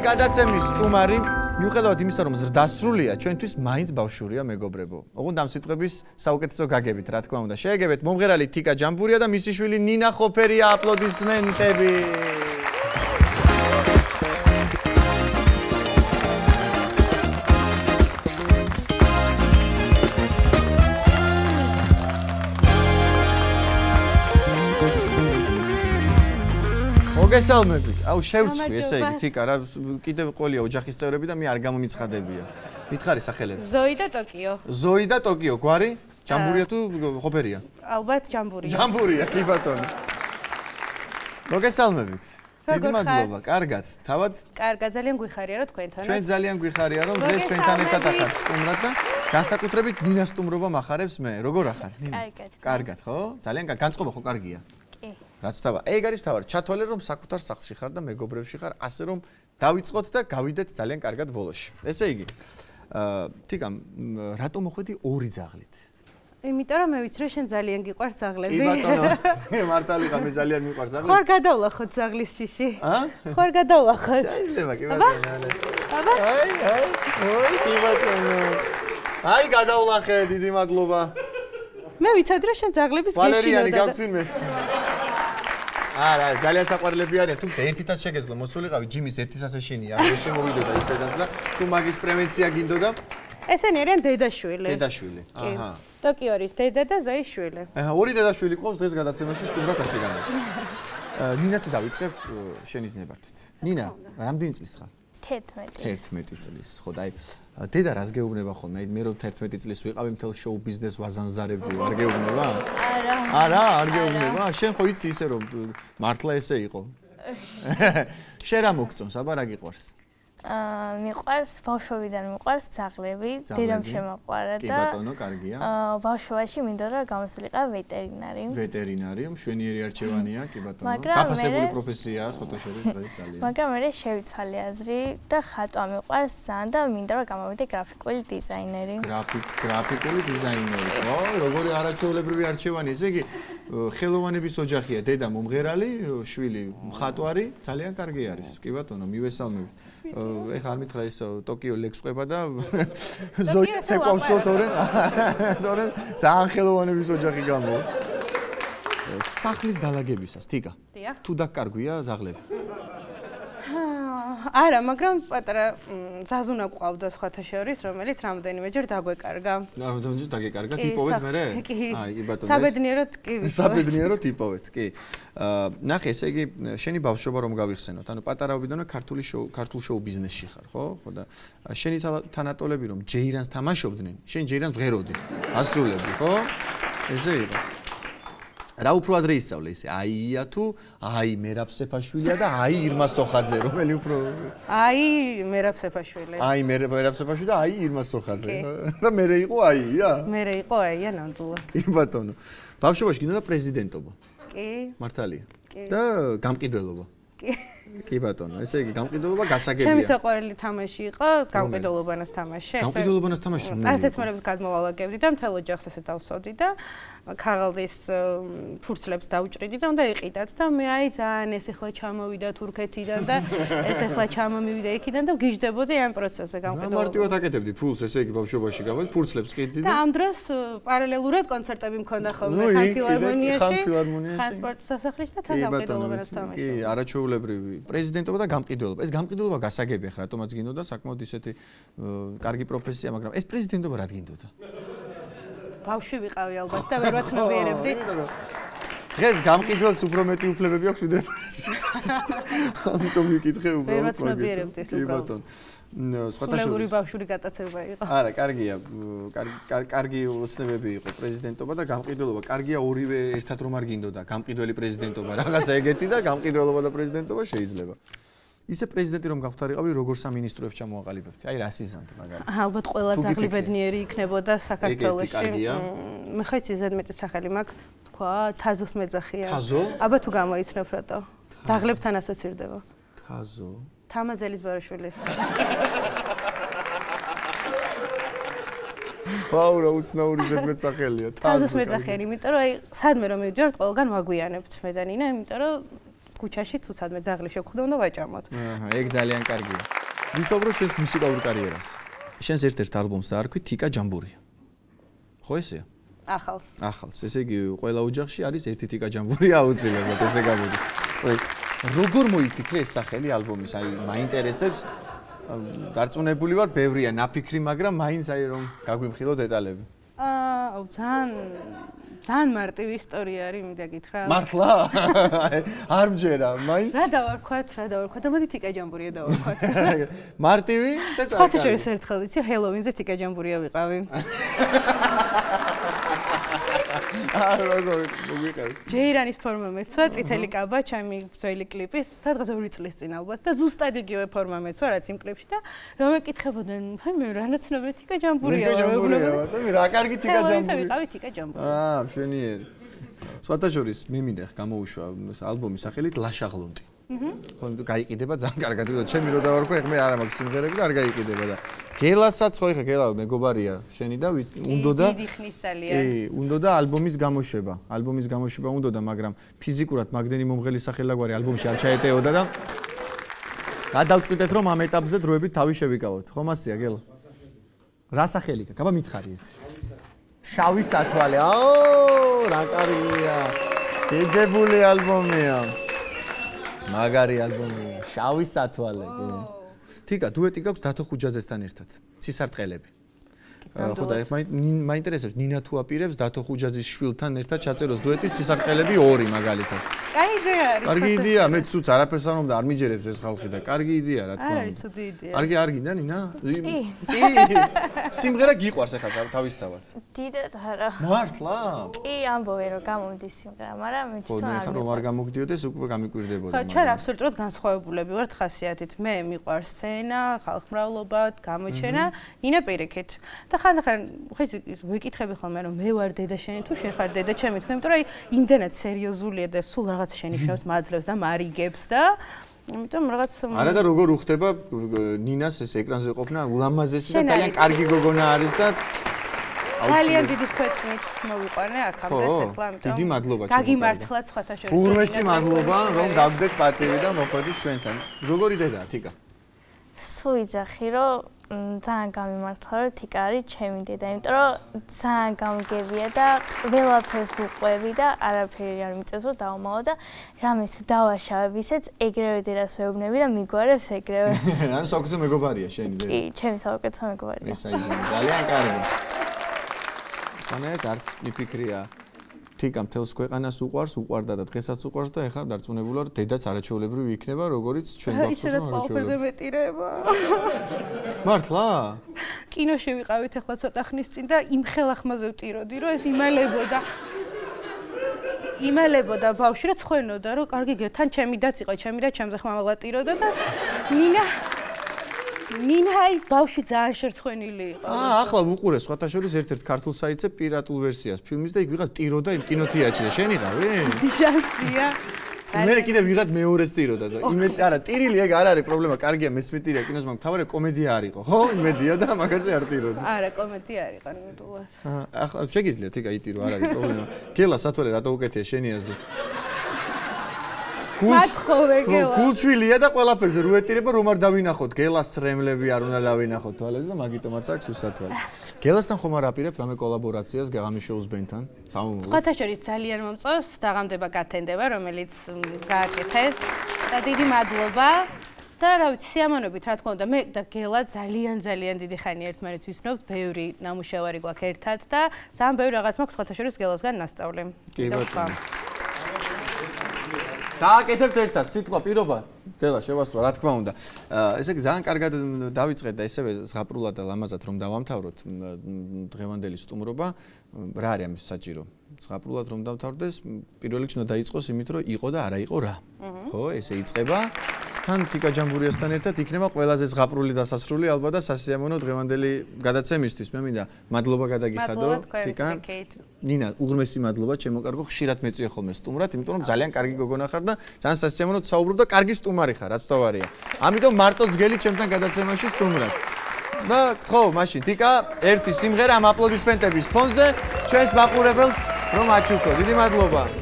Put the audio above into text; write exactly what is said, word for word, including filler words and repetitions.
გადაცემის სტუმარი მიუხედავად იმისა, რომ ზრდასრულია, ჩვენთვის მაინც ბავშვურია, მეგობრებო. ოღონდ ამ სიტყვების საუკეთესო გაგებით, რა თქმა უნდა. შეეგებეთ მომღერალი თიკა ჯამბურია და მისი შვილი ნინა ხოფერია. აპლოდისმენტები. მოგესალმებით. აუ შევწყვი, ესე იგი, თიკა რა კიდევ ყოლია ოჯახის წევრები და მე არ გამომიცხადებია. მითხარი სახელები. ზოი და ტოკიო. ზოი და ტოკიო, გვარი? ჯამბურია თუ ხოფერია? ალბათ ჯამბურია. ჯამბურია, კი ბატონო. მოგესალმებით. დიდი მადლობა, კარგად. თავად? კარგად, ძალიან გვიხარია რომ თქვენთან. ჩვენ ძალიან გვიხარია რომ დღეს ჩვენთან ერთად ახართ სტუმრად და განსაკუთრებით ნინა სტუმრობა მახარებს მე. როგორ ახარ? კარგად. კარგად, ხო? ძალიან კარგი. განწყობა ხო კარგია? კი. რაც ვთქვა, ეგ არის თავი, ჩათვალე რომ საკუთარ სახლში ხარ და მეგობრებში ხარ, ასე რომ დავიწყოთ და გავიდეთ ძალიან კარგად ბოლოში. ესე იგი, აა, თიკა, რატომ მოხვედი ორი ძაღლით? იმიტომ რომ მე ვიცი რომ შენ ძალიან გიყვარს ძაღლები. კი ბატონო, მართალი ხარ, მე ძალიან მიყვარს ძაღლები. ხარ გადავლახოთ ძაღლის შიში? აა? ხარ გადავლახოთ? შეიძლება, კი ბატონო. აბა? აი, აი, ოი, კი ბატონო. აი, გადავლახე, დიდი მადლობა. მე ვიცოდი რომ შენ ძაღლების გეშინოდა. ვალერიანი გავთვინეს. არა, ძალიან საყვარლები არიან, თუმცა ერთითაც შეგეძლო მოსულიყავი ჯიმის ერთისას ეშინია, არ შემოვიდოდა ისედაც და თუ მაგის პრევენცია გინდოდა? ესენი არიან დედაშვილი. დედაშვილი. აჰა. ტოკიო არის დედა და ზოის შვილი. აჰა, ორი დედაშვილი ყავს დღეს გადაცემაში სტუმრად ასე განა. ნინათ დავიწყებ შენის ნებართვით. ნინა, რამდენი წლის ხარ? თერთმეტი. თერთმეტი წლის, ხო და აი დედა რას გეუბნება ხოლმე? აი მე რომ თერთმეტი წლის ვიყავი მთელ შოუ ბიზნეს ვაზანზარებდი, არ გეუბნება? არა. არა, არ გეუბნება? შენ ხო იცი ისე რომ მართლა ესე იყო. შენ რა მოგწონს, აბა რა გიყვარს? აა მიყვარს ბავშვობიდან მიყვარს ძაღლები, დედამ შემოყვარა და კი ბატონო, კარგია. აა ბავშვობაში მინდოდა რომ გამოსულიყავ ვეტერინარი. ვეტერინარი, მშვენიერი არჩევანია, კი ბატონო. მაგრამ დაფასებული მე- პროფესიაა, სხვათა შორის დღეს ძალიან. მაგრამ მე შევიცვალე აზრი და ხატვა მიყვარს ძალიან და მინდა რომ გამოვიდე გრაფიკული დიზაინერი. გრაფიკ, გრაფიკული დიზაინერი. ო, როგორი არაჩვეულებრივი არჩევანი, ესე იგი ხელოვანების ოჯახია, დედა მომღერალი, შვილი მხატვარი, ძალიან კარგი არის. კი ბატონო, მივესალმებით. ეხლა არ მითხრა ის ტოკიო ლექს ყვება და ზოი ცეკვავსო თორე თორე ძალიან ხელოვანების ოჯახი გამო. სახლის დალაგებისას, თიკა. დიახ. თუ დაკარგვია ზაღლები. არა, მაგრამ პატარა ზაზუნა ყავდა სხვათა შორის, რომელიც რამდენიმეჯერ დაგვეკარგა. რამდენიმეჯერ დაგეკარგა, ტიპოვეთ მერე? კი. აი, კი ბატონო. საბედნიეროდ კი ვიტყოდ. საბედნიეროდ ტიპოვეთ, კი. აა, ნახე, ესე იგი, შენი ბავშვობა რომ გავიხსენოთ, ანუ პატარაობიდანვე ქართული შოუ, ქართულ შოუ ბიზნესში ხარ, ხო? ხო და შენი თანატოლები რომ ჯეირანს თამაშობდნენ, შენ ჯეირანს ვღეროდი. ასრულებდი, ხო? ესე იყო. რა უფრო ადრე ისწავლე ისე? აია თუ აი მერაბ სეფაშვილია და აი ირმა სოხაძე, რომელი უფრო აი მერაბ სეფაშვილი. აი მერაბ სეფაშვილი და აი ირმა სოხაძე. და მერე იყო აია? მერე იყო აია ნამდვილად. კი ბატონო. ბავშვობაში გინდა პრეზიდენტობა. კი. მართალია. კი. და გამყიდველობა. კი. კი ბატონო, ესე იგი გამყიდველობა გასაგებია. ჩემი საყვარელი თამაში იყო გამყიდველობანას თამაში. გამყიდველობანას თამაში რომ ასეცმელებს გადმოვალაგებდი და მთელ ოჯახს ესე დავსვდი და ქაღალდის ფურცლებს დავჭრიდი და უნდა იყიდათ და მე აი ძალიან ეს ახლა ჩამოვიდა თურქეთიდან და ეს ახლა ჩამომივიდა იქიდან და გიждდებოდი ამ პროცესზე გამყიდველობა. მარტივად აკეთებდი ფულს, ესე იგი ბავშვობაში გავედ ფურცლებს ყიდდი და ამ დროს პარალელურად კონცერტები მქონდა ხოლმე ხან ფილარმონიაში, ხან სპორტ სასახლეში და თან გამყიდველობანას თამაში. კი, არაჩვეულებრივი პრეზიდენტობა და გამყიდველობა. ეს გამყიდველობა გასაგებია ხა, რატომაც გინდოდა საკმაოდ ისეთი კარგი პროფესია, მაგრამ ეს პრეზიდენტობა რა გინდოდა? ბავშვი ვიყავი ალბათ და ვერ ვაცნობიერებდი. დღეს გამყიდველს უფრო მეტი უფლებები აქვს ვიდრე პრეზიდენტს. ამიტომ ვიკითხე უბრალოდ. ვერ ვაცნობიერებდი ეს უბრალოდ. კი ბატონო. სულელური ბავშვური გატაცება იყო. არა, კარგია. კარგი კარგი ოცნებები იყო პრეზიდენტობა და გამყიდველობა. კარგია ორივე ერთად რომ არ გინდოდა. გამყიდველი პრეზიდენტობა, რაღაცა ეგეთი და გამყიდველობა და პრეზიდენტობა შეიძლება. ისე პრეზიდენტი რომ გავხდარიყავი, როგორ სამინისტროებს ჩამოაყალიბებდი? აი, რა სიზანტი მაგარი. ალბათ ყველა ძაღლი ბედნიერი იქნებოდა საქართველოში. კარგია. მე ხაიც ზედმეტი სახელი მაქვს, თქვა, თაზოს მეძახია. თაზო? აბა თუ გამოიცნობ რატო? ძაღლებთან ასოცირდება. თაზო. თამაზელის ბაროშვილი. ვაუ, რა უცნაური ზედმეტ სახელია. თაზოს მეძახიანი, იმიტომ რომ აი, სადმე რომ მივიდივართ, ყველგან ვაგვიანებთ მე და ნინა, იმიტომ რომ ქუჩაში თუცადმე ძაღლი შევხვდა უნდა ვაჭამოთ. აჰა, ეგ ძალიან კარგია. ვისაუბროთ შენს მუსიკალურ კარიერას. შენს ერთ-ერთ ალბომს დაარქვი თიკა ჯამბურია. ხო ესეა? ახალს. ახალს. ესე იგი, ყველა ოჯახში არის ერთი თიკა ჯამბურია აუცილებლად, ესე გამოდის. ოი, როგორ მოიფიქრე ეს სახელი ალბომის? აი, მაინტერესებს. დარწმუნებული ვარ, ბევრია ნაფიქრი, მაგრამ მაინც აი რომ გაგვიმხილო დეტალები. აა, ძალიან ძალიან მარტივი ისტორია არის, მინდა გითხრა. მართლა? არ მჯერა, მაინც. რა დავარქვათ, რა დავარქვათ? ამათი თიკა ჯამბურია დავარქვათ. მარტივი და სხვა შორის ერთხელ იცი, ჰელოვინზე თიკა ჯამბურია ვიყავი. აა, როგორ მოგვიყევი? ჯეირანის ფორმა მეცვა, წითელი კაბა, ჩემი ძველი კლიპის, სადღაც ორი წლის წინ ალბათ და ზუსტად იგივე ფორმა მეცვა, რაც იმ კლიპში და რომ ეკითხებოდნენ, აი მე რანაცნობი თიკა ჯამბურია ვარ, ჯამბურია, და მე რა კარგი თიკა ჯამბურია. ესე ვიყავი თიკა ჯამბურია. აა, მშვენიერი. სხვათა შორის მე მინდა გამოუშვა ალბომის სახელით ლაშაღლონტი. ხო, იმიტომ გაიყიდება ძალიან კარგად, ვიდრე ჩემი რო დავარქვი, ეხლა მე არ მაქვს სიმღერები და არ გაიყიდება და გელასაც ხო ეხლა გელა მეგობარია შენი და უნდოდა დიდი ხნის ძალიან. კი, უნდოდა ალბომის გამოშვება. ალბომის გამოშვება უნდოდა, მაგრამ ფიზიკურად მაგდენი მომღელი სახელაგვარი ალბომში არ ჩაეტეოდა და გადავწყვიტეთ რომ ამ ეტაპზე დროებით თავი შევიკავოთ. ხო მასია გელა? რა სახელი გაქვს? აბა მითხარი ერთი. შავი სათვალე. აო, რა კარგია. გეგებული ალბომია. მაგარი ალბომია. შავი სათვალე. თიკა, დუეტი გაქვს დათო ხუჯაძესთან ერთად. ცისარტყელები. ხო და მაინტერესებს ნინა თუ აპირებს დათო ხუჯაძის შვილთან ერთად ჩაწეროს დუეტი ცისარტყელები ორი მაგალითად. კაი იდეა არის. კარგი იდეა, მე ცუც არაფერს არ მომდა, არ მიჯერებს ეს ხალხი და კარგი იდეა რა თქმა უნდა. არის ცუდი იდეა. კარგი არ გინდა ნინა? კი. სიმღერა გიყვარს ახლა თავისთავად. დიდად არა. მართლა? კი, ამბობენ რომ გამომდის სიმღერა, მაგრამ მე თვითონ არ ხო, მე ხარ რომ არ გამოგვდიოდეს, უკვე გამიკვირდებოდა. ხო, ჩვენ აბსოლუტურად განსხვავებულები ვართ ხასიათით. მე მიყვარს სცენა, ხალხმრავლობა, გამოჩენა, ნინა პირიქით. და ხანდახან ხეცი ვიკითხები ხოლმე რომ მე ვარ დედა შენი თუ შენ ხარ დედა ჩემი თქო, იმიტომ რომ აი იმდენად სერიოზულია და სულ რაღაც შენიშვნებს მაძლევს და მარიგებს და იმიტომ რაღაც არა და როგორ უხდება ნინას ეს ეკრანზე ყოფნა ულამაზესი და ძალიან კარგი გოგონა არის და ძალიან დიდი ხვეწმით მოვიყვანე აქამდეც ახლა ამიტომ დიდი მადლობა ჩემო გაგიმართლათ სხვათა შორის ურმესი მადლობა რომ გავდეთ პატივი და მოხვედით ჩვენთან როგორი დედაა თიკა სულ იძახი რომ ძალიან გამიმართლა რომ თიკა არის ჩემი დედა იმიტომ რომ ძალიან გამგებია და ყველაფერს უყვები და არაფერი არ მიწევს რომ დავმალო და რამეს დავაშავებ ისეც ეგრევე დედას ვეუბნები და მიგვარებს ეგრევე ან საუკეთესო მეგობარია შენი დედა კი ჩემი საუკეთესო მეგობარია ეს აი ძალიან კარგი სანერად არც მიფიქრია თიკა მთელს ქვეყანას უყვარს, უყვარდა და დღესაც უყვარს და ეხლა დარწმუნებულა რომ დედაც არაჩვეულებრივი იქნება, როგორც ჩვენ გვაქვს. ისედაც ყველაფერზე მეტირება. მართლა? კინოში ვიყავით ეხლა ცოტა ხნის წინ და იმ ხელახმაზე ვტიროდი, რომ ეს იმალებოდა. იმალებოდა ბავშვი რა ცხენოდა, რომ კარგი გე, თან ჩემი დაც იყო, ჩემი და ჩემზე ხმამაღლა ტიროდა და ნინა ნინა აი ბავშვი ძალიან შერცხვენილი იყო. აა ახლა ვუყურე სხვათა შორის ერთ-ერთ ქართულ საიტზე პირატულ ვერსიას ფილმის და იქ ვიღაც ტიროდა იმ კინოთეატრში და შენი ყავი? შანსია. მე კიდე ვიღაც მეორეს ტიროდა და იმედი არა ტირილი ეგ არ არის პრობლემა, კარგია მეცმეტირია კინოს, მაგრამ თავარი კომედია არ იყო, ხო? იმედია და მაგაზე არ ტიროდა. არა, კომედია არ იყო ნამდვილად. აა ახლა შეგიძლია თიკა იტირო, არ არის პრობლემა. გელა სათვალე რატო უკეთია შენი აზრი? მათხოვე გელა. გულჩვილია და ყველაფერზე რუეტირება რომ არ დავინახოთ. გელას რემლები არ უნდა დავინახოთ თვალებს და მაგიტომაც აქვს უსათვალე. გელასთან ხომ არ აპირებ რამე კოლაბორაციას გაღამის შოუს ბენთან? სამომავლოდ. სხვათა შორის ძალიან მომწონს დაღამდება გათენდება, რომელიც გააკეთეს და დიდი მადლობა. და რა ვიცი, სიამოვნებით რა თქმა უნდა, მე და გელა ძალიან ძალიან დიდი ხანი ერთმანეთს ვისნობთ, ბევრი ნამუშევარი გვაქვს ერთად და ძალიან ბევრი რაღაც მაქვს სხვათა შორის გელასგან ნასწავლი. კი ბატონო. დააკეთებთ ერთად სიტყვა პირობა გელა შევასრულა რა თქმა უნდა ესე იგი ძალიან კარგად დავიწყეთ და ესევე ზღაპრულად და ლამაზად რომ დავამთავროთ დღევანდელი სტუმრობა რა არის ამის საჭირო ზღაპრულად რომ დავთავრდეს პირველ რიგში უნდა დაიწყოს იმით რომ იყო და არა იყო რა ხო ესე იწყება თან თიკა ჯამბურიასთან ერთად იქნება ყველაზე ზღაპრული დასასრული ალბათ და სასიამოვნო დღევანდელი გადაცემისთვის მე მინდა მადლობა გადაგიხადო თიკა ნინა უღრმესი მადლობა ჩემო კარგო ხშირად მეწვია ხოლმე სტუმრად იმიტომ რომ ძალიან კარგი გოგონა ხარ და ძალიან სასიამოვნო საუბრობ და კარგი სტუმარი ხარ რაც თავარია ამიტომ მარტო ძგელი ჩემთან გადაცემაში სტუმრად და ხო მაშინ თიკა ერთი სიმღერა ამ აპლოდისმენტების ფონზე ჩვენს მაყურებელს რომ აჩუქო დიდი მადლობა